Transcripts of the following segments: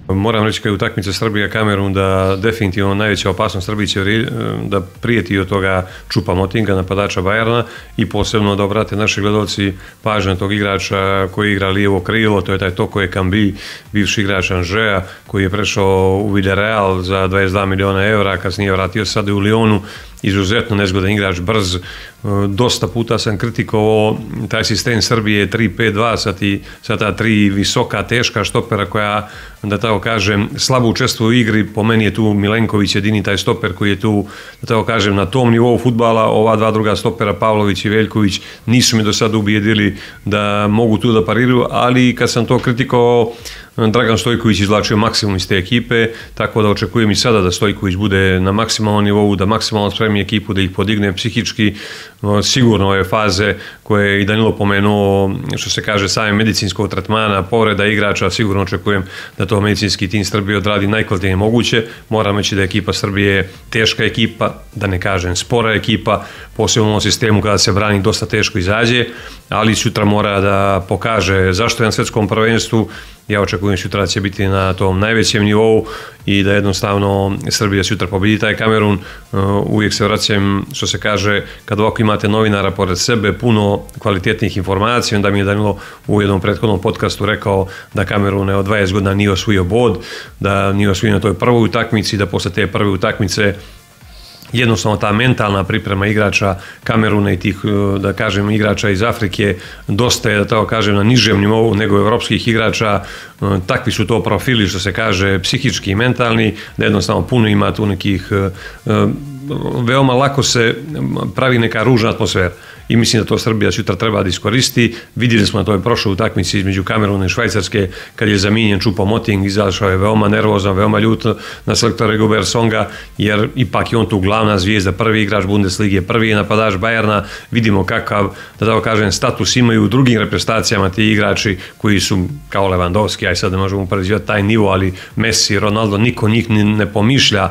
Moram reći kad je utakmica Srbija-Kamerun da definitivno najveća opasnost Srbiji će da prijeti od toga Choupo-Motinga, napadača Bayerna, i posebno da obrate naši gledalci pažnju na tog igrača koji igra lijevo krilo, to je taj Toko Ekambi, bivši igrač Angers, koji je prešao u Villarreal za 22 miliona evra, kasnije vratio sad u Lyonu. Izuzetno nezgodan igrač, brz. Dosta puta sam kritikovao taj sistem Srbije 3-5-2 sa ta tri visoka, teška štopera koja, da tako kažem, slabo učestvuje u igri. Po meni je tu Milenković jedini taj stoper koji je tu, da tako kažem, na tom nivou fudbala. Ova dva druga stopera, Pavlović i Veljković, nisu mi do sada ubijedili da mogu tu da pariraju, ali kad sam to kritikovao, Dragan Stojković izvlačio maksimum iz te ekipe, tako da očekujem i sada da Stojković bude na maksimalnom nivou, da maksimalno spremi ekipu, da ih podigne psihički. Sigurno ove faze koje je i Danilo pomenuo, što se kaže, same medicinskog tretmana, povreda igrača, sigurno očekujem da to medicinski tim Srbije odradi najkvalitetnije moguće. Moram reći da je ekipa Srbije teška ekipa, da ne kažem spora ekipa, posebno u ovom sistemu kada se brani dosta teško izađe, ali sutra mora da pokaže zašto je na svetskom prvenstvu. Ja očekujem sutra da će biti na tom najvećem nivou i da jednostavno Srbija sutra pobedi taj Kamerun. Uvijek se vraćam, što se kaže, kad ovako imate novinara pored sebe, puno kvalitetnih informacija, onda mi je Danilo u jednom prethodnom podcastu rekao da Kamerun od 20 godina nije osvojio bod, da nije osvojio na toj prvoj utakmici, da posle te prve utakmice jednostavno ta mentalna priprema igrača Kameruna i tih, da kažem, igrača iz Afrike dosta je, da tako kažem, na nižem nivou nego evropskih igrača. Takvi su to profili, što se kaže, psihički i mentalni, da jednostavno puno ima tu nekih, veoma lako se pravi neka ružna atmosfera. I mislim da to Srbija sutra treba da iskoristi. Vidjeli smo na toj prošloj utakmici između Kameruna i Švajcarske, kad je zamijenjen Choupo-Moting, izašao je veoma nervozan, veoma ljut na selektora Rigobert Songa, jer ipak je on tu glavna zvijezda, prvi igrač Bundeslige, prvi je napadač Bayerna. Vidimo kakav, da tako kažem, status imaju u drugim reprezentacijama ti igrači koji su kao Lewandowski, aj sad ne možemo upoređivati taj nivo, ali Messi, Ronaldo, niko njih ne pomišlja,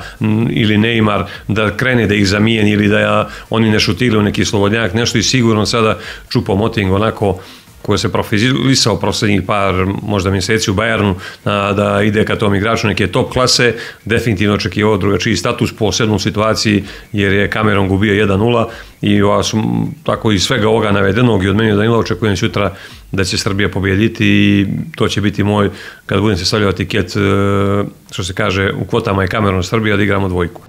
ili Neymar, da krene da ih zamijeni ili da oni ne šutiraju neki slobodnjak, nešto. I sigurno sada Choupo-Moting, onako koji se profilisao prosljednjih par možda mjeseci u Bayernu, da ide ka tom igraču neke top klase, definitivno očekivao drugačiji status po 7. situaciji, jer je Kamerun gubio 1-0 i tako iz svega ovoga navedenog i od meni Danila očekujem sutra da će Srbija pobijediti i to će biti moj, kad budem se stavljao tiket, što se kaže, u kvotama je Kamerun Srbija, da igramo dvojku.